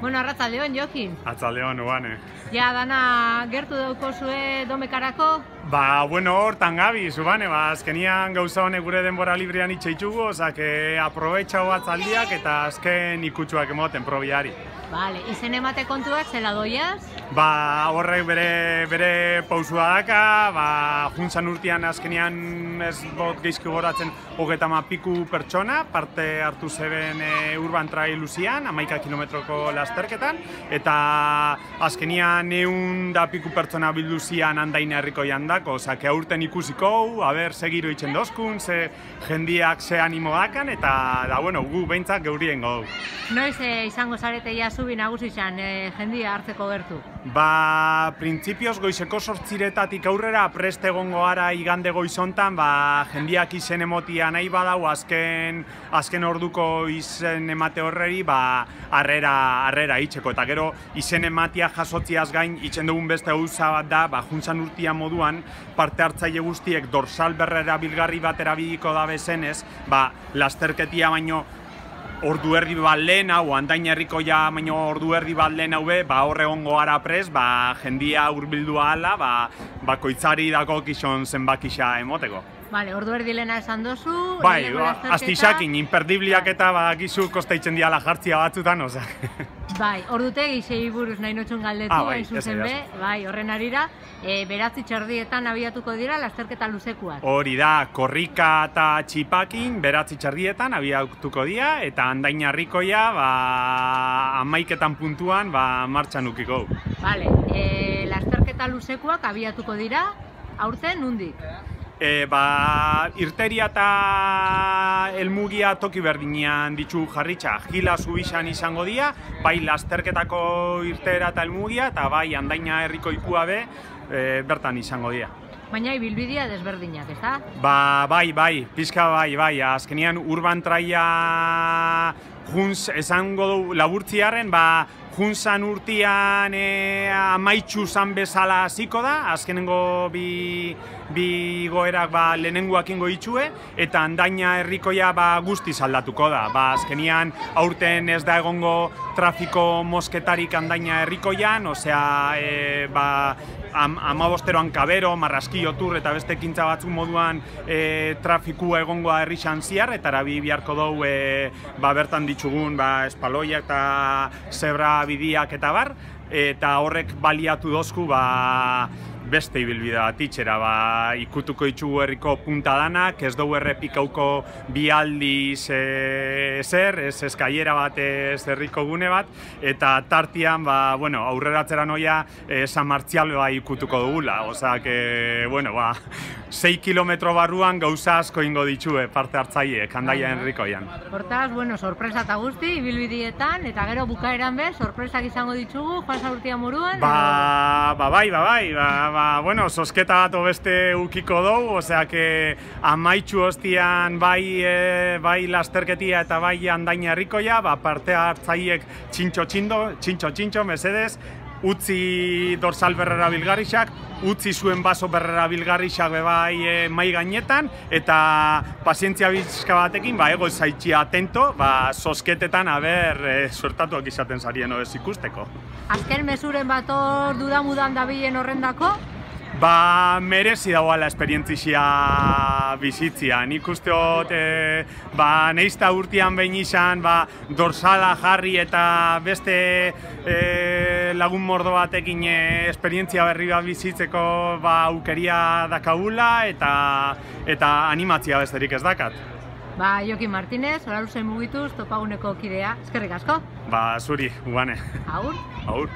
Bueno, arratsaldeon, Jokin. Arratsaldeon, Ubane. Ja, dana gertu daukozue domekarako? Bueno, hortan gabiz, Ubane, azkenian gauza honek gure denbora librean itxeitugu, osake aprobetxau atzaldiak eta azken ikutsuak emoten probiari. Vale, izen emate kontuak zela doiaz? Horrek bere pausua daka, juntzan urtean azkenian ez bot geizki goratzen 30 piku pertsona, parte hartu zeben Urban Trail luzian, 11 kilometroko lasterketan, eta azkenian 100 piku pertsona bilduzian Andain herriko jandako, osake aurten ikusiko, segiro itxen dozkun, ze jendiak ze animo dakan, eta bueno, gu behintzak geurien gau. Noiz izango zarete zubi nagusizan jendia hartzeko gertu? Printzipioz goizeko 8:00 aurrera prest egongo gara igande goizontan, jendiak izen emotia nahi badau azken orduko izen emate horreri, harrera itxeko. Eta gero izen ematia jasotziaz gain, itxen dugun beste gauza bat da, juntzan urtia moduan, parte hartzaile guztiek dorsal berrera bilgarri bat erabiliko da bezenez, lasterketia baino ordu erdi bat lehen hau, Andain herriko baino ordu erdi bat lehen hau hor egongo gara prest, jendia hurbildua ala, koitzari dako kixon zenbakixa emoteko. Vale, ordu erdi lehena esan dozu, astisakin, imperdibliak eta gizu kosteitzen diala jartzia batzutan, ozak. Ordutegi sei buruz nahi notxun galdetu, hain zuzen horren arira, 9:30 abiatuko dira lasterketa luzekuak. Hori da, korrika eta txipakin 9:30 abiatuko dira, eta Andain herrikoia 11 puntuan martxan ukiko. Vale, lasterketa luzekuak abiatuko dira, aurten nundik? Irteria eta helmugia toki berdinean ditu jarritxa. Gila zubixan izango dira, bai lasterketako irtera eta helmugia, eta bai Andaina herriko ikua bertan izango dira. Baina ibilbidea desberdinak, ez da? Bai, pizka bai. Azkenean Urban Traila junz esango du laburtziaren, juntzan urtean amaitxu zan bezala hasiko da, azkenengo bi goerak lehenengoak ingo itxue, eta Andaina herrikoia guztiz aldatuko da. Azkenean aurten ez da egongo trafiko mosketarik Andaina herrikoian, osea, 15 kabero, marraskio tur eta beste ekintza batzuk moduan trafikua egongoa herrixan ziar, eta arabi biharko dugu bertan ditugun espaloiak eta zebra bidiak eta eta horrek baliatu dozku beste ibilbide bat itxera, ikutuko itxugu herriko punta danak, ez dugu errepikauko bi aldiz ezer, ez eskaiera bat ez herriko gune bat, eta tartian, aurreratzera noia San Martzial ikutuko dugula, ozak, 6 kilometro barruan gauza asko ingo ditue parte hartzaileek Andaia herrikoian. Hortaz, sorpresa eta guzti, ibilbideetan, eta gero bukaeran sorpresak izango ditugu, Juan Saurtia moruan? Sosketa bat beste ukiko dugu, oseak amaitxu hostian bai lasterketia eta bai Andaina herrikoia, parte hartzaileek txintxo, mesedez, utzi dorsal berrera bilgarrixak, utzi zuen baso berrera bilgarrixak mai gainetan, eta pazientzia bizka batekin, ego zaitxi atento, sosketetan suertatuak izaten zarien ez ikusteko. Azken mesuren bat hor dudamudan dabilen horrendako? Merezi dagoela esperientzia bizitzia. Nik usteot, neizta urtean behin izan, dorsala jarri eta beste lagun mordo batekin esperientzia berri bat bizitzeko aukeria dakagula eta animatzia besterik ez dakat. Jokin Martínez, Oraluzen mugituz, topaguneko kidea. Eskerrik asko? Zuri, Ubane. Agur? Agur.